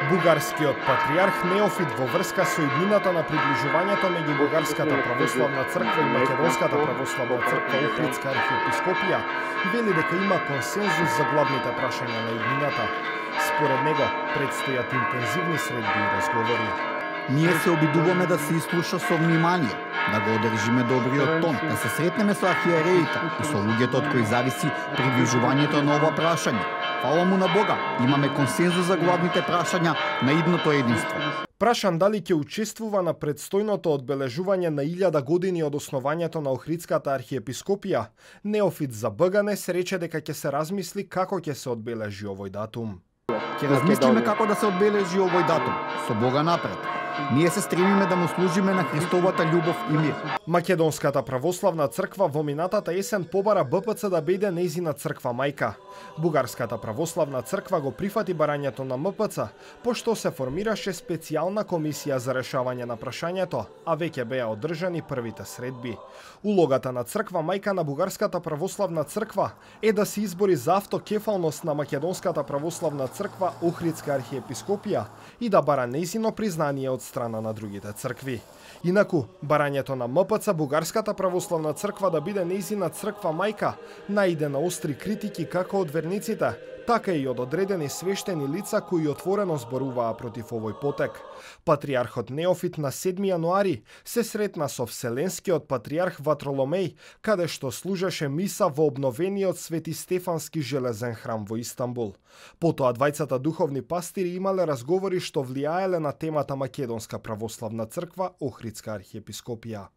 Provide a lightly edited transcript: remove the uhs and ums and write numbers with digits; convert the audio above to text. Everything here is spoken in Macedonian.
Бугарскиот патриарх Неофит во врска со иднината на приближувањето меѓу Бугарската православна црква и Македонската православна црква Охридска архиепископија вели дека има консензус за главните прашања на иднината. Според него предстојат интензивни средби и разговори. Ние се обидуваме да се изслуша со внимание, да го одржиме добриот тон, да се сретнеме со архиереите и со луѓето од кои зависи приближувањето на ова прашање. Фала му на Бога, имаме консензус за главните прашања на идното единство. Прашан дали ќе учествува на предстојното одбележување на 1000 години од основањето на Охридската архиепископија, Неофит за БГНЕС рече дека ќе се размисли како ќе се одбележи овој датум. Ќе размислиме како да се одбележи овој датум, со Бога напред. Ние се стремиме да му служиме на Христовата љубов и мир. Македонската православна црква во минатата есен побара БПЦ да биде нејзина црква мајка. Бугарската православна црква го прифати барањето на МПЦ, пошто се формираше специјална комисија за решавање на прашањето, а веќе беа одржани првите средби. Улогата на црква мајка на Бугарската православна црква е да се избори за автокефалност на Македонската православна црква Охридска архиепископија и да бара нејзино признание од страна на другите цркви. Инаку, барањето на МПЦ Бугарската православна црква да биде нејзина црква мајка наиде на остри критики како од верниците, така и од одредени свештени лица кои отворено зборуваа против овој потек. Патриархот Неофит на 7 јануари се сретна со Вселенскиот патриарх Ватроломеј, каде што служеше миса во обновениот Свети Стефански железен храм во Истанбул. Потоа двајцата духовни пастири имале разговори што влијаеле на темата Македонска православна црква Охридска архиепископија.